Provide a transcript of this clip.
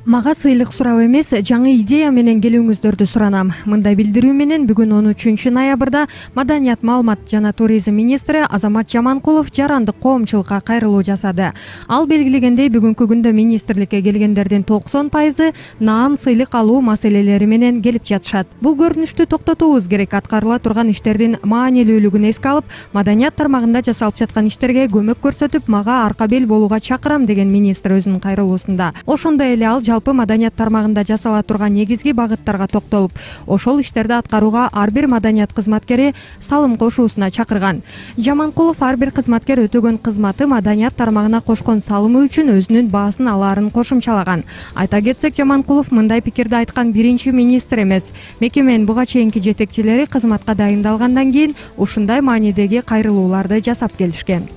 Мага сыйлык сурап эмес, жаңы идея менен келүүңүздөрдү суранам. Мындай билдирүү менен бүгүн 13 ноябрда Маданият, маалымат жана туризм министри Азамат Жаманкулов жарандык коомчулукка кайрылуу жасады. Ал белгилегендей, бүгүнкү күндө министрликке келгендердин 90% наам, сыйлык алуу маселелери менен келип жатышат. Бул көрүнүштү токтотуубуз керек. Аткарыла турган иштердин маанилүүлүгүн эске алып, маданият тармагында жасалып жаткан иштерге көмөк көрсөтүп, мага арка бел болууга чакырам деген министр өзүнүн кайрылуусунда. Ошондой эле ал жалпы маданият тармагында жасала турган негизги багыттарга токтолуп, ошол иштерди аткарууга ар бир маданият кызматкери салым кошуусуна чакырган. Жаманкулов ар бир кызматкер өтөгөн кызматы маданият тармагына кошкон салымы үчүн өзүнүн баасын алаарын кошумчалаган. Айта кетсек, Жаманкулов мындай пикирди айткан биринчи министр эмес. Мекеменин буга чейинки жетекчилери кызматка дайындалгандан кийин ушундай маанидеги кайрылууларды жасап келишкен.